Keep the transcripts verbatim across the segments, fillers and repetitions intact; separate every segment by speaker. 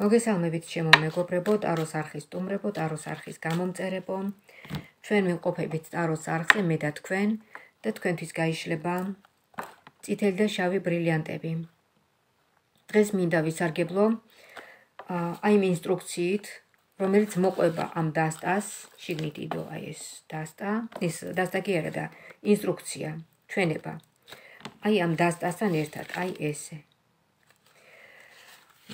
Speaker 1: მოგესალმებით ჩემო მეგობრებო, ტაროს არხის სტუმრებო, ტაროს არხის გამომწერებო. ჩვენ ვიმყოფებით ტაროს არხზე, მე და თქვენ და თქვენთვის გაიშლება წითელი და შავი ბრილიანტები. დღეს მინდა ვისარგებლო აი იმ ინსტრუქციით, რომელიც მოყვება ამ დასტას, შიგნით იდო აი ეს დასტა, ეს დასტა კი არა და ინსტრუქცია, ჩვენება. აი ამ დასტასთან ერთად, აი ესე.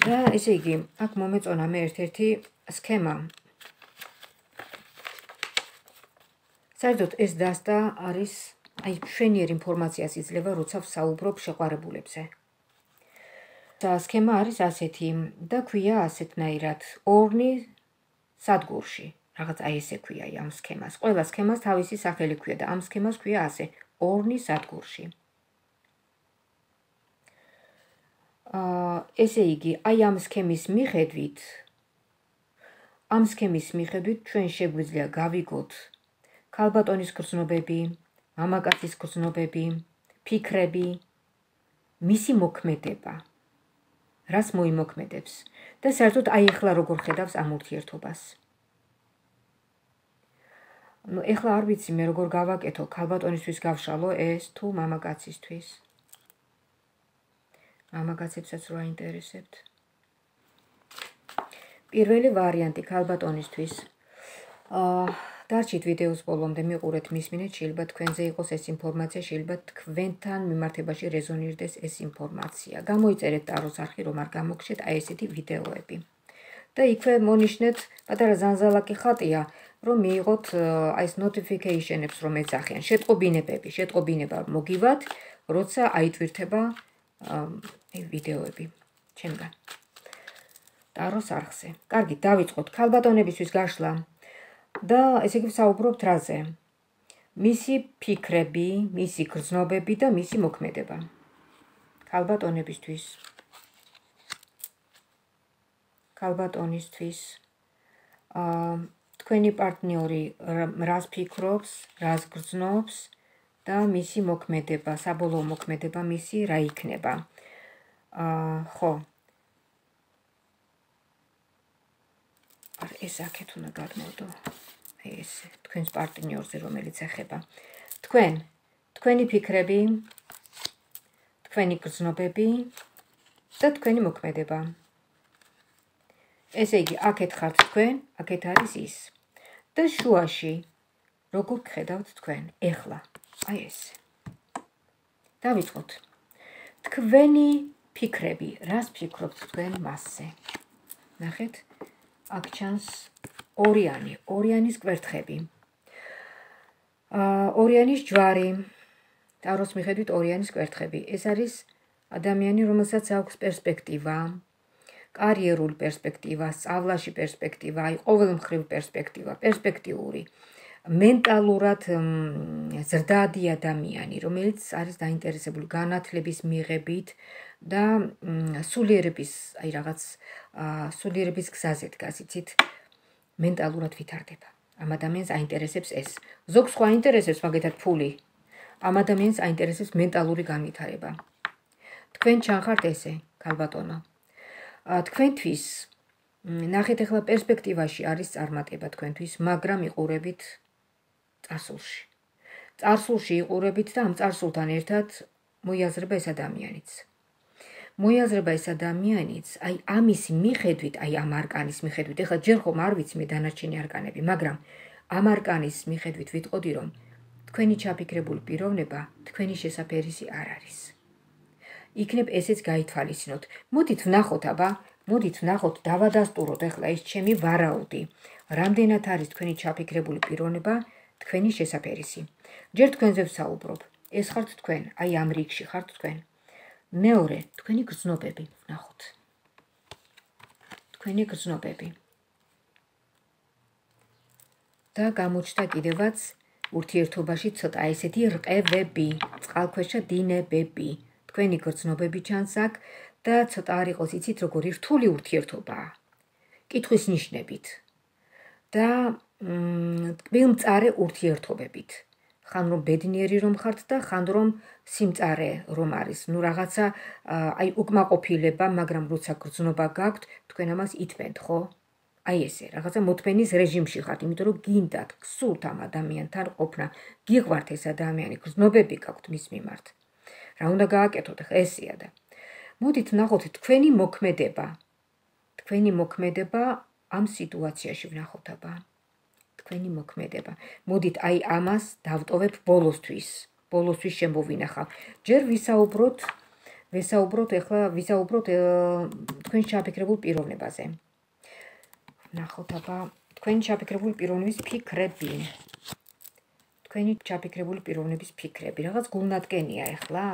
Speaker 1: და ესე იგი, აქ მომეწონა მე ერთ-ერთი სქემა. საერთოდ ეს დასტა არის აი მშვენიერ ინფორმაციას იძლევა, როცა ვსაუბრობ შეყვარებულებზე. და სქემა არის ასეთი და ქვია ასეთნაირად ორნი სადგურში. რაღაც აი ესე ქვია ამ სქემას. ყველა სქემას თავისი სახელი ქვია და ამ სქემას ქვია ასე, ორნი სადგურში. ესე იგი, აი ამ სქემის მიხედვით, ამ სქემის მიხედვით ჩვენ შეგვიძლია გავიგოთ ქალბატონის გრძნობები, მამაკაცის გრძნობები, ფიქრები, მისი მოქმედება, რას მოიმოქმედებს და საერთოდ აი ახლა როგორ ხედავს ამ ურთიერთობას. ნუ ახლა არ ვიცი მე როგორ გავაკეთო, ქალბატონისთვის გავშალო ეს თუ მამაკაცისთვის. მამაკაცებსაც რო აინტერესებთ. პირველი ვარიანტი ქალბატონისთვის. აა დარჩით ვიდეოს ბოლომდე, მიყურეთ, მისმინეთ, შეიძლება თქვენზე იყოს ეს ინფორმაცია, შეიძლება თქვენთან მიმართებაში რეზონირდეს ეს ინფორმაცია. გამოიწერეთ ტაროს არხი, რომ არ გამოგჩეთ აი ესეთი ვიდეოები. და იქვე მონიშნეთ პატარა ზანზალაკი ხატია, რომ მიიღოთ აი ეს notification-ებს რომ ეძახიან, შეტყობინებები, შეტყობინება მოგივათ, როცა აიტვირთება აი ვიდეოები ჩემგან. ტაროს არხზე. კარგი, დავიწყოთ ქალბატონებისთვის გაშლა. და ესე იგი ვსაუბრობთ რაზე? მისი ფიქრები, მისი გრძნობები და მისი მოქმედება. ქალბატონებისთვის. ქალბატონისთვის. აა თქვენი პარტნიორი რას ფიქრობს, რას გრძნობს და მისი მოქმედება, საბოლოო მოქმედება მისი რა იქნება. აა ხო. ეს აქეთ უნდა გადმოვდო. აი ესე, თქვენს პარტნიორზე რომელიც ეხება. თქვენ, თქვენი ფიქრები, თქვენი გრძნობები და თქვენი მოქმედება. ესე იგი, აქეთ ხართ თქვენ, აქეთ არის ის. და შუაში, როგორ გხედავთ თქვენ, ეხლა, აი ესე. დავიწყოთ. თქვენი ფიქრები, რას ფიქრობთ თქვენ მასზე? ნახეთ? აქ ჩანს ორიანი, ორიანის კვერთხები. ორიანის ჯვარი, ტაროს მიხედვით ორიანის კვერთხები. ეს არის ადამიანი, რომელსაც აქვს პერსპექტივა, კარიერული პერსპექტივა, სწავლაში პერსპექტივა, აი ყოველმხრივ პერსპექტივა, პერსპექტიული, მენტალურად ზრდადი ადამიანი, რომელიც არის დაინტერესებული განათლების მიღებით და სულიერების, აი რაღაც სულიერების გზაზე დგას, იცით, მენტალურად ვითარდება. ამ ადამიანს აინტერესებს ეს. ზოგს ხო აინტერესებს მაგეთად ფული. ამ ადამიანს აინტერესებს მენტალური განვითარება. თქვენ ჩანხართ ესე, ქალბატონო. თქვენთვის, ნახეთ ახლა პერსპექტივაში არის წარმატება თქვენთვის, მაგრამ იყურებით წარსულში. წარსულში იყურებით და ამ წარსულთან ერთად მოიაზრება ეს ადამიანიც. მოიაზრება ეს ადამიანიც, აი ამის მიხედვით, აი ამ არკანის მიხედვით, ეხლა ჯერ ხომ არ ვიცი მე დანარჩენი არკანები, მაგრამ ამ არკანის მიხედვით ვიტყოდი, რომ თქვენი ჩაფიქრებული პიროვნება თქვენი შესაფერისი არ არის. იქნებ ესეც გაითვალისწინოთ. მოდით ვნახოთ, აბა, მოდით ვნახოთ, დავადასტუროთ ახლა ეს ჩემი ვარაუდი. რამდენად არის თქვენი ჩაფიქრებული პიროვნება თქვენი შესაფერისი. ჯერ თქვენზე ვსაუბრობ. ეს ხართ თქვენ, აი ამ რიგში ხართ თქვენ. მეორე, თქვენი გრძნობები, ვნახოთ. თქვენი გრძნობები. და გამოჩნდა კიდევაც ურთიერთობაში ცოტა ესეთი რყევები, წყალქვეშა დინებები. თქვენი გრძნობები ჩანს აქ და ცოტა არ იყოს, იცით, როგორი რთული ურთიერთობაა. კითხვის ნიშნებით. და მწარე ურთიერთობებით. ხან რომ ბედნიერი რომ ხართ და ხან რომ სიმწარე რომ არის. ნუ რაღაცა აი უკმაყოფილება, მაგრამ როცა გრძნობა გაქვთ, თქვენ ამას ითმენთ, ხო? აი ესე, რაღაცა მოთმენის რეჟიმში ხართ, იმიტომ რომ გინდათ, გსურთ ამ ადამიანთან ყოფნა, გიყვართ ეს ადამიანი, გრძნობები გაქვთ მის მიმართ. რა უნდა გააკეთოთ, ახლა ესეა და მოდით ვნახოთ თქვენი მოქმედება. თქვენი მოქმედება ამ სიტუაციაში ვნახოთ აბა. თქვენი მოქმედება. მოდით აი ამას დავტოვებ ბოლოსთვის. ბოლოსთვის შემოვინახავ. ჯერ ვისაუბროთ, ვისაუბროთ ახლა ვისაუბროთ თქვენ ჩაფიქრებულ პიროვნებაზე. ვნახოთ აბა თქვენი ჩაფიქრებული პიროვნების ფიქრები. თქვენი ჩაფიქრებული პიროვნების ფიქრები. რაღაც გულნადგენია ახლა.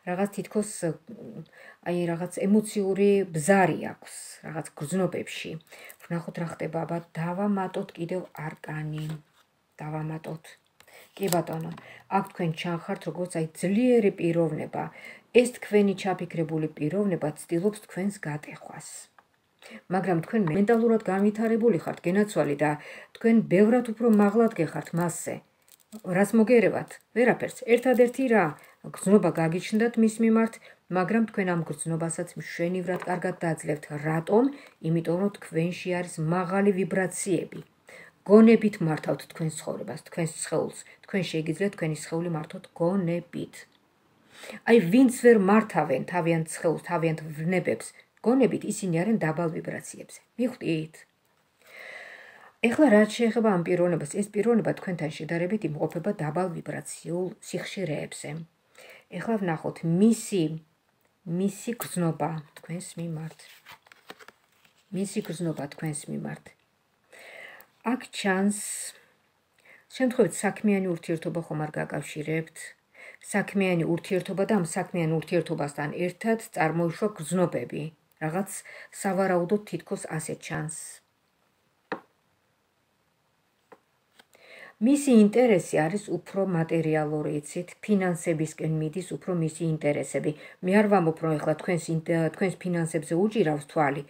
Speaker 1: რაღაც თითქოს აი რაღაც ემოციური ბზარი აქვს, რაღაც გრძნობებში. ვნახოთ რა ხდება, აბა დავამატოთ კიდევ არკანი. დავამატოთ. კი ბატონო, აქ თქვენ ჩანხართ როგორც აი ძლიერი პიროვნება. ეს თქვენი ჩაფიქრებული პიროვნება ცდილობს თქვენს გატეხვას. მაგრამ თქვენ მენტალურად განვითარებული ხართ, გენაცვალი და თქვენ ბევრად უფრო მაღლად გეხართ მასზე. რას მოგერევათ? ვერაფერს. ერთადერთი რა, გრძნობა გაგიჩნდათ მის მიმართ, მაგრამ თქვენ ამ გრძნობასაც მშვენივრად კარგად დაძლევთ. რატომ? იმიტომ რომ თქვენში არის მაღალი ვიბრაციები. გონებით მართავთ თქვენს ცხოვრებას, თქვენს სხეულს. თქვენ შეგიძლიათ თქვენი სხეული მართოთ გონებით. აი ვინც ვერ მართავენ თავიანთ სხეულს, თავიანთ ვნებებს, გონებით ისინი არიან დაბალ ვიბრაციებზე. მიხვდით? ეხლა რაც შეეხება ამ პიროვნებას, ეს პიროვნება თქვენთან შედარებით იმყოფება დაბალ ვიბრაციულ სიხშირეებზე. ეხლა ვნახოთ მისი მისი გრძნობა თქვენს მიმართ. მისი გრძნობა თქვენს მიმართ. აქ ჩანს შემთხვევით საქმიანი ურთიერთობა ხომ არ გაკავშირებთ. საქმიანი ურთიერთობა და ამ საქმიან ურთიერთობასთან ერთად წარმოიშვა გრძნობები. რაღაც სავარაუდოდ თითქოს ასე ჩანს. მისი ინტერესი არის უფრო მატერიალური, იცით, ფინანსებისკენ მიდის უფრო მისი ინტერესები. მე არ ვამბობ, რომ ეხლა თქვენს თქვენს ფინანსებზე უჭირავს თვალი,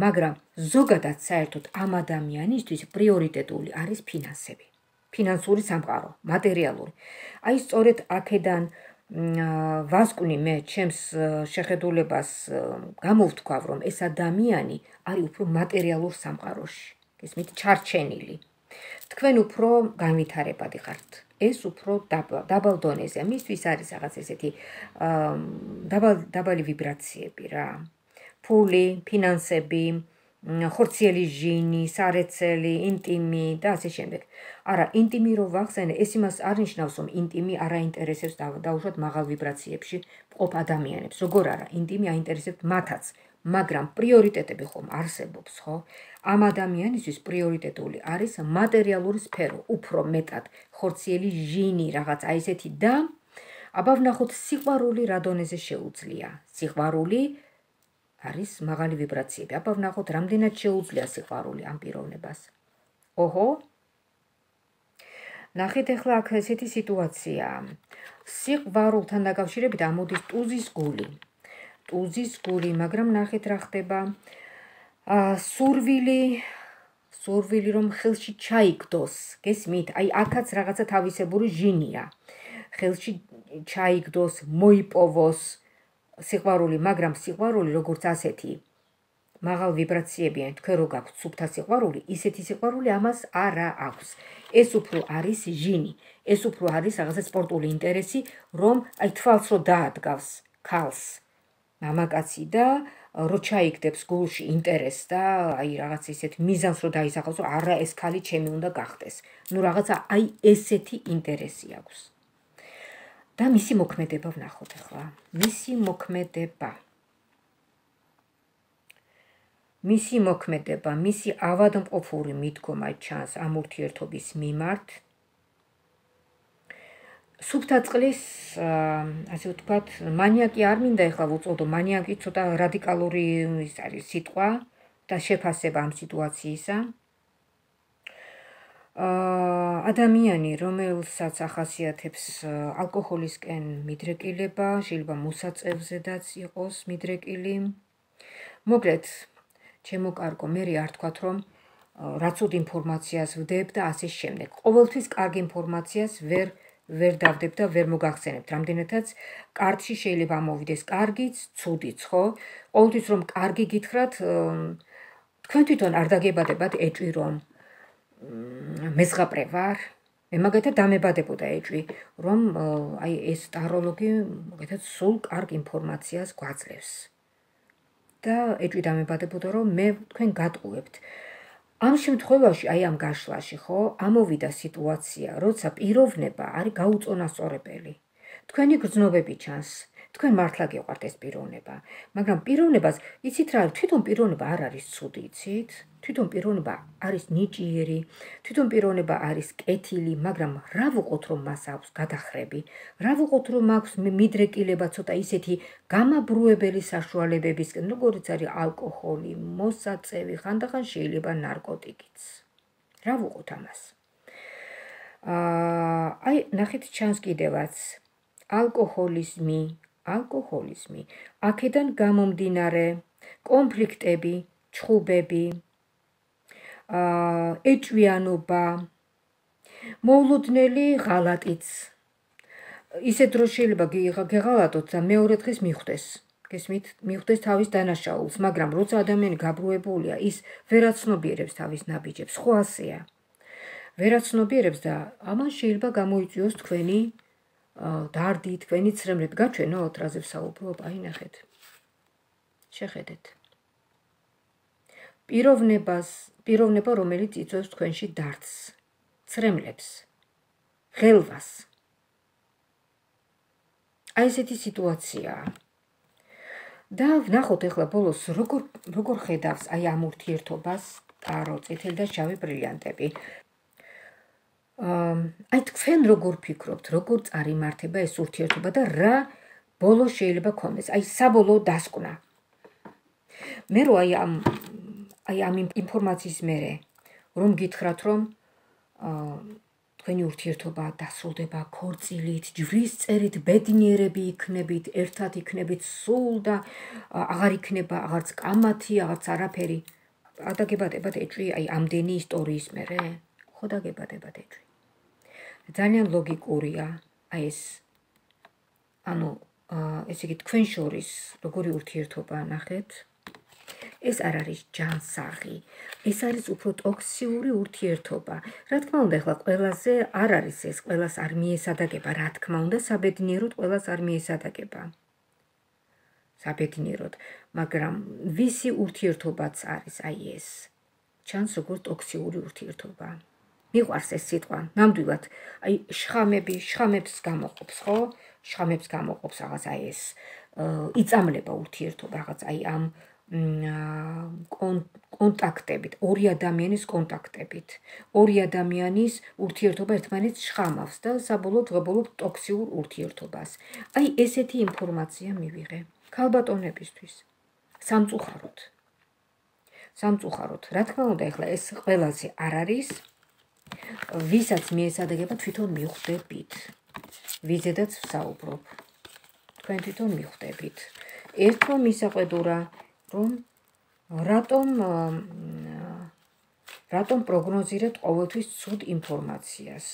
Speaker 1: მაგრამ ზოგადად საერთოდ ამ ადამიანისთვის პრიორიტეტული არის ფინანსები. ფინანსური სამყარო, მატერიალური. აი სწორედ აქედან ვასკვნი მე ჩემს შეხედულებას გამოვთქვავ, რომ ეს ადამიანი არის უფრო მატერიალურ სამყაროში. გესმით, ჩარჩენილი. თქვენ უფრო განვითარებადი ხართ. ეს უფრო დაბალ დონეზე. მისთვის არის რაღაც ესეთი დაბალი ვიბრაციები რა. ფული, ფინანსები, ხორციელი ჟინი, სარეცელი, ინტიმი და ასე შემდეგ. არა, ინტიმი რო ვახსენე, ეს იმას არ ნიშნავს, რომ ინტიმი არ აინტერესებს დაუშვათ მაღალ ვიბრაციებში მყოფ ადამიანებს. როგორ არა, ინტიმი აინტერესებთ მათაც. მაგრამ პრიორიტეტები ხომ არსებობს, ხო? ამ ადამიანისთვის პრიორიტეტული არის მატერიალური სფერო, უფრო მეტად ხორციელი ჟინი, რაღაც აი ესეთი და აბა ვნახოთ სიყვარული რა დონეზე შეუძლია. სიყვარული არის მაღალი ვიბრაციები. აბა ვნახოთ რამდენად შეუძლია სიყვარული ამ პიროვნებას. ოჰო. ნახეთ ახლა აქ ესეთი სიტუაცია. სიყვარულთან დაკავშირებით ამოდის ტუზის გული. ტუზის გული, მაგრამ ნახეთ რა ხდება. სურვილი, სურვილი რომ ხელში ჩაიგდოს, გესმით? აი აქაც რაღაცა თავისებური ჟინია. ხელში ჩაიგდოს, მოიპოვოს სიყვარული, მაგრამ სიყვარული როგორც ასეთი მაღალ ვიბრაციებიანი, თქვენ რო გაქვთ სუფთა სიყვარული, ისეთი სიყვარული ამას არა აქვს. ეს უფრო არის ჟინი, ეს უფრო არის რაღაცა სპორტული ინტერესი, რომ აი თვალს რო დაადგავს ქალს. მამაკაცი და რო ჩაიგდებს გულში ინტერესს და აი რაღაც ისეთ მიზანს რო დაისახოს, რომ არა ეს ქალი ჩემი უნდა გახდეს. ნუ რაღაცა აი ესეთი ინტერესი აქვს. და მისი მოქმედება ვნახოთ ახლა. მისი მოქმედება. მისი მოქმედება, მისი ავადმყოფური მიდგომა ჩანს ამ ურთიერთობის მიმართ. სუფთა წყლის, ასე ვთქვათ, მანიაკი არ მინდა ეხლა ვუწოდო, მანიაკი ცოტა რადიკალური ის არის სიტყვა და შეფასება ამ სიტუაციისა. ადამიანი, რომელსაც ახასიათებს ალკოჰოლისკენ მიდრეკილება, შეიძლება მოსაწევზედაც იყოს მიდრეკილი. მოკლედ, ჩემო კარგო, მე არ თქვათ, რომ რაც უდ ინფორმაციას ვდებ და ასე შემდეგ. ყოველთვის კარგ ინფორმაციას ვერ ვერ დავდებ და ვერ მოგახსენებთ. რამდენადაც კარტში შეიძლება ამოვიდეს კარგიც, ცუდიც, ხო? ყოველთვის რომ კარგი გითხრათ, თქვენ თვითონ არ დაგებადებათ ეჭვი რომ მეზღაპრე ვარ. მე მაგათად დამებადებოდა ეჭვი, რომ აი ეს ტაროლოგი მაგათად სულ კარგ ინფორმაციას გვაძლევს. და ეჭვი დამებადებოდა რომ მე თქვენ გატყუებთ. ამ შემთხვევაში, აი ამ გაშლაში, ხო, ამოვიდა სიტუაცია, როცა პიროვნება არის გაუწონასწორებელი. თქვენი გრძნობები ჩანს, თქვენ მართლა გეყვართ ეს პიროვნება, მაგრამ პიროვნებას, იცით რა, თვითონ პიროვნება არ არის ცუდი, იცით? თვითონ პიროვნება არის ნიჭიერი, თვითონ პიროვნება არის კეთილი, მაგრამ რა ვუყოთ რომ მას აქვს გადახრები, რა ვუყოთ რომ აქვს მიდრეკილება ცოტა ისეთი გამაბრუებელი საშუალებებისკენ, როგორიც არის ალკოჰოლი, მოსაწევი, ხანდახან შეიძლება ნარკოტიკიც. რა ვუყოთ ამას? აა, აი, ნახეთ ჩანს კიდევაც ალკოჰოლიზმი, ალკოჰოლიზმი, აქედან გამომდინარე კონფლიქტები, ჩხუბები, ეჭვიანობა, მოულოდნელი ღალატიც. ისეთ დროს შეიძლება გეღალატოთ და მეორე დღეს მიხვდეს. გესმით? მიხვდეს თავის დანაშაულს, მაგრამ როცა ადამიანი გაბრუებულია, ის ვერაცნობიერებს თავის ნაბიჯებს, ხო ასეა. ვერაცნობიერებს და ამან შეიძლება გამოიწვიოს თქვენი დარდი, თქვენი ცრემლები. გაჩვენოთ, რაზე ვსაუბრობ, აი ნახეთ. შეხედეთ. პიროვნებას, პიროვნება, რომელიც იწვევს თქვენში დარდს, ცრემლებს, ღელვას. აი ესეთი სიტუაციაა. და ვნახოთ ახლა ბოლოს როგორ როგორ ხედავს აი ამ ურთიერთობას ტარო, წითელი და შავი ბრილიანტები. აი თქვენ როგორ ფიქრობთ, როგორ წარიმართება ეს ურთიერთობა და რა ბოლოს შეიძლება გქონდეს? აი საბოლოო დასკვნა. მე რო აი ამ აი ამ ინფორმაციის მერე რომ გითხრათ რომ თქვენი ურთიერთობა დასრულდება ქორწილით, ჯვრის წერით, ბედნიერები იქნებით, ერთად იქნებით სულ და აღარ იქნება აღარც კამათი, აღარც არაფერი. ადაგებადებათ ეჭვი აი ამდენი ისტორიის მერე? ხო დაგებადებათ ეჭვი. ძალიან ლოგიკურია აი ეს ანუ ესე იგი თქვენ შორის როგორი ურთიერთობა ნახეთ? ეს არ არის ჯანსაღი, ეს არის უფრო ტოქსიური ურთიერთობა. რა თქმა უნდა, ახლა ყველაზე არ არის ეს, ყველას არ მიესადაგება, რა თქმა უნდა, საბედნიეროდ ყველას არ მიესადაგება. საბედნიეროდ, მაგრამ ვისი ურთიერთობაც არის აი ეს. ჩანს როგორც ტოქსიური ურთიერთობა. მიყვარს ეს სიტყვა, ნამდვილად, აი შხამები, შხამებს გამოყოფს, ხო? შხამებს გამოყოფს რაღაც აი ეს იწამლება ურთიერთობა, რაღაც აი ამ კონტაქტებით, ორი ადამიანის კონტაქტებით, ორი ადამიანის ურთიერთობა ერთმანეთს შხამავს და საბოლოოდ ვღებულობ ტოქსიურ ურთიერთობას. აი ესეთი ინფორმაცია მივიღე ქალბატონებისთვის. სამწუხაროდ. სამწუხაროდ. რა თქმა უნდა, ახლა ეს ყველაზე არ არის, ვისაც მიესადაგება თვითონ მიხვდებით. ვიზედაც ვსაუბრობ. თქვენ თვითონ მიხვდებით. ერთმა მისაყვედურა რომ რატომ რატომ პროგნოზირებთ ყოველთვის ცუდ ინფორმაციას.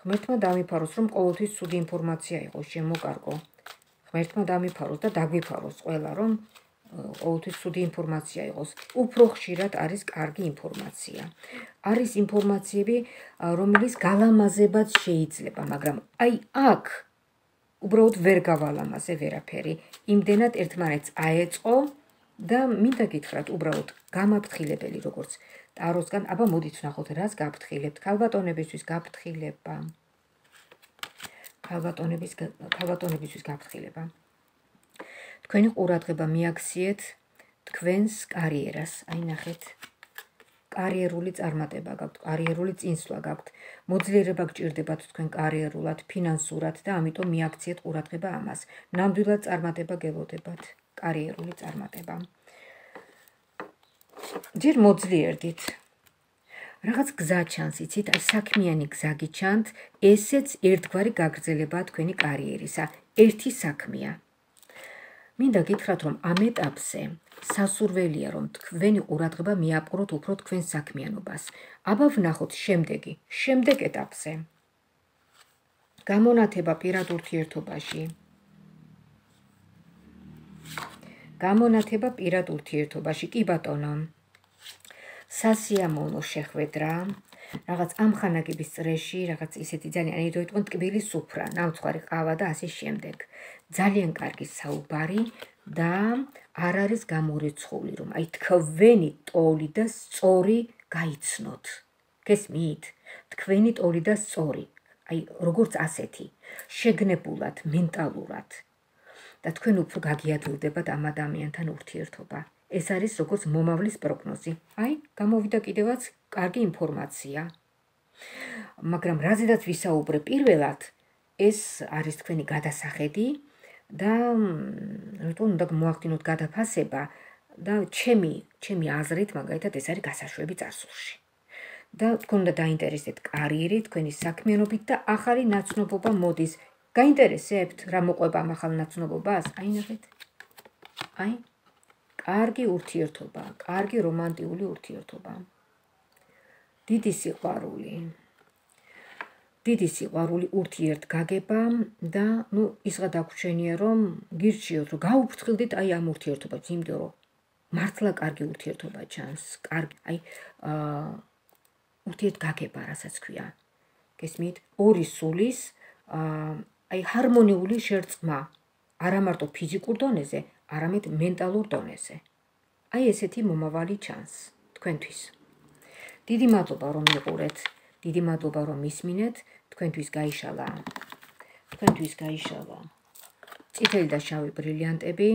Speaker 1: ღმერთმა დამიფაროს, რომ ყოველთვის ცუდი ინფორმაცია იყოს, შემოკარგო. ღმერთმა დამიფაროს და დაგვიფაროს ყველა, რომ ყოველთვის ცუდი ინფორმაცია იყოს. უფრო ხშირად არის კარგი ინფორმაცია. არის ინფორმაციები, რომელიც გალამაზებად შეიძლება, მაგრამ აი აქ უბრალოდ ვერ გავალამაზე ვერაფერი. იმდენად ერთმანეთს აეწყო და მინდა გითხრათ, უბრალოდ გამაფრთხილებელი როგორც ტაროსგან, აბა მოდით ვნახოთ, რას გაფრთხილებთ. ქალბატონებისთვის გაფრთხილება. ქალბატონების ქალბატონებისთვის გაფრთხილება. თქვენი ყურადღება მიაქციეთ თქვენს კარიერას. აი ნახეთ. კარიერული წარმატება გაქვთ, კარიერული წინსვლა გაქვთ. მოძლიერება გჭირდებათ თქვენ კარიერულად, ფინანსურად და ამიტომ მიაქციეთ ყურადღება ამას. ნამდვილად წარმატება გელოდებათ. კარიერული წარმატება. ჯერ მოძლიერდით. რაღაც გზა ჩანს, იცით, აი საქმიანი გზა გიჩანთ, ესეც ერთგვარი გაგრძელებაა თქვენი კარიერისა. ერთი საქმეა. მინდა გითხრათ, რომ ამ ეტაპზე სასურველია, რომ თქვენი ყურადღება მიაპყროთ უფრო თქვენ საქმიანობას. აბა ვნახოთ შემდეგი, შემდეგ ეტაპზე. გამონათება პირად ურთიერთობაში. გამონათება პირად ურთიერთობაში, კი ბატონო. სასიამოვნო შეხვედრა, რაღაც ამხანაგების წრეში, რაღაც ისეთი ძალიან იდეიტყვენ ტკბილი სუფრა, ნამცხვარი ყავა და ასე შემდეგ. ძალიან კარგი საუბარი და არ არის გამორიცხული, რომ აი თქვენი ტოლი და სწორი გაიცნოთ. გესმით? თქვენი ტოლი და სწორი, აი როგორც ასეთი, შეგნებულად, მენტალურად და თქვენ უფრო გაგიადვილდებათ ამ ადამიანთან ურთიერთობა. ეს არის როგორც მომავლის პროგნოზი. აი, გამოვიდა კიდევაც კარგი ინფორმაცია. მაგრამ რაზედაც ვისაუბრე პირველად, ეს არის თქვენი გადასახედი და რატომ უნდა მოახდინოთ გადაფასება და ჩემი, ჩემი აზრით, მაგალითად, ეს არის გასაშვები წარსულში. და თქვენ უნდა დაინტერესდეთ კარიერით, თქვენი საქმიანობით და ახალი ნაცნობობა მოდის. გაინტერესებთ რა მოყვება ამ ახალ ნაცნობობას? აი ნახეთ. აი კარგი ურთიერთობა, კარგი რომანტიული ურთიერთობა. დიდი სიყვარული. დიდი სიყვარული ურთიერთგაგება და ნუ ისღა დაგვრჩენია, რომ გირჩიოთ, რომ გაუფრთხილდით აი ამ ურთიერთობას, იმიტომ რომ მართლა კარგი ურთიერთობა ჩანს, კარგი, აი აა ურთიერთგაგება, რასაც ქვია. გესმით? ორი სულის აა აი ჰარმონიული შერწყმა, არა მარტო ფიზიკურ დონეზე, არამედ მენტალურ დონეზე. აი ესეთი მომავალი ჩანს თქვენთვის. დიდი მადლობა რომ მიყურეთ, დიდი მადლობა რომ მისმინეთ, თქვენთვის გაიშალა. თქვენთვის გაიშალა. წითელი და შავი ბრილიანტები.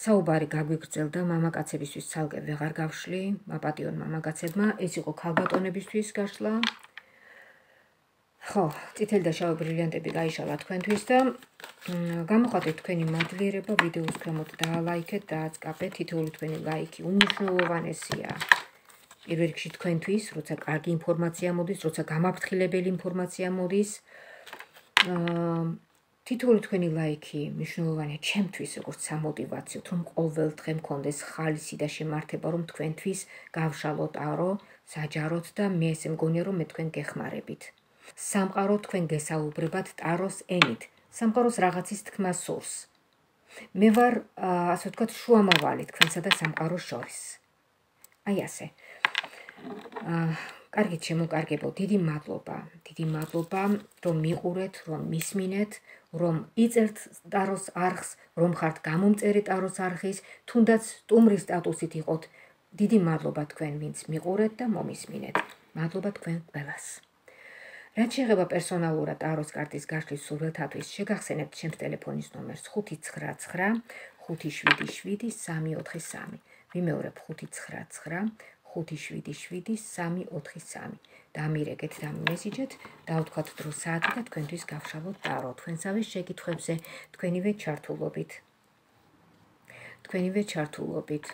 Speaker 1: საუბარი გაგვიგრძელდა მამაკაცებისთვის ცალკე ვეღარ გავშლი, მაპატიონ მამაკაცებმა, ეს იყო ქალბატონებისთვის გაშლა. ხო, წითელი და შავი ბრილიანტები გაიშალა თქვენთვის და გამოხატეთ თქვენი მადლიერება, ვიდეოს ქვემოთ დაალაიქეთ, დააწყაბეთ, თითოეული თქვენი ლაიქი უმნიშვნელოვანესია. პირველ რიგში თქვენთვის, როცა კარგი ინფორმაცია მოდის, როცა გამაფრთხილებელი ინფორმაცია მოდის, თითოეული თქვენი ლაიქი მნიშვნელოვანია ჩემთვის, როგორც სამოტივაციოდ, რომ ყოველ დღე მქონდეს ხალისი და შემართება, რომ თქვენთვის გავშალოთ არო, საჯაროთ და მე ესე მგონია, რომ მე თქვენ გეხმარებით. სამყარო თქვენ გესაუბრებათ ტაროს ენით. სამყაროს რაღაცის თქმა სურს. მე ვარ, ასე ვთქვათ, შუამავალი თქვენსა და სამყაროს შორის. აი ასე. კარგით შემოკარგებო, დიდი მადლობა, დიდი მადლობა, რომ მიყურეთ, რომ მისმინეთ, რომ იწერთ ტაროს არხს, რომ ხართ გამომწერი ტაროს არხის, თუნდაც სტუმრის სტატუსით იყოთ. დიდი მადლობა თქვენ, ვინც მიყურეთ და მომისმინეთ. მადლობა თქვენ ყველას. რაც შეეხება პერსონალურად ტაროს კარტის გაშლის სურვილთათვის, შეგახსენებთ ჩემს ტელეფონის ნომერს ხუთი ცხრა ცხრა ხუთი შვიდი შვიდი სამი ოთხი სამი. ვიმეორებ ხუთი ცხრა ცხრა ხუთი შვიდი შვიდი სამი ოთხი სამი. დამირეკეთ და მესიჯეთ, დავთქვათ დრო საათი და თქვენთვის გავშალოთ ტარო. თქვენსავე შეკითხვებზე თქვენივე ჩართულობით. თქვენივე ჩართულობით.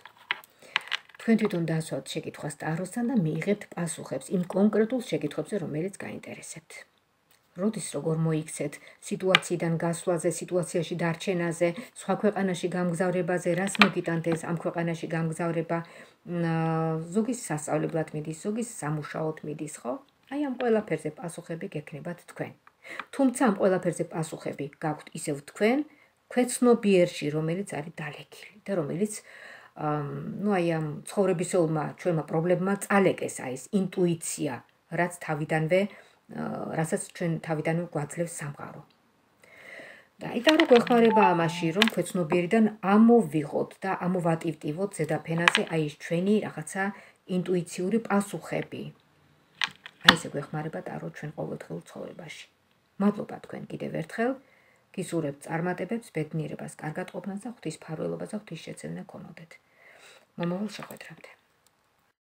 Speaker 1: თქვენ თვითონ დასვათ შეკითხვას ტაროსთან და მიიღებთ პასუხებს იმ კონკრეტულ შეკითხვებზე, რომელიც გაინტერესებთ. როდის როგორ მოიქცეთ სიტუაციიდან გასვლაზე, სიტუაციაში დარჩენაზე, სხვა ქვეყანაში გამგზავრებაზე, რას მოგიტანთ ეს ამ ქვეყანაში გამგზავრება, ზოგის სასწავლებლად მიდის, ზოგის სამუშაოდ მიდის, ხო? აი ამ ყველაფერზე პასუხები გექნებათ თქვენ. თუმცა ამ ყველაფერზე პასუხები გაქვთ ისევ თქვენ, ქვეცნობიერში, რომელიც არის დალექილი და რომელიც ну აი ამ ცხოვრებისეულმა ჩვენმა პრობლემებმა წალეკეს აი ეს ინტუიცია, რაც თავიდანვე, რასაც ჩვენ თავიდანვე გვაძლევს სამყარო. და იტარო გვეხმარება ამაში, რომ ქვეცნობიერიდან ამოვიღოთ და ამოვატივტივოთ ზედაფენაზე აი ეს ჩვენი რაღაცა ინტუიციური პასუხები. აი ესე გვეხმარება ტარო ჩვენ ყოველდღიურ ცხოვრებაში. მადლობა თქვენ კიდევ ერთხელ. გისურვებთ წარმატებებს, ბედნიერებას, კარგად ყოფნას და ღვთისმფარველობას და ღვთისშეწევნა გქონოდეთ. მომავალ შეხვედრამდე.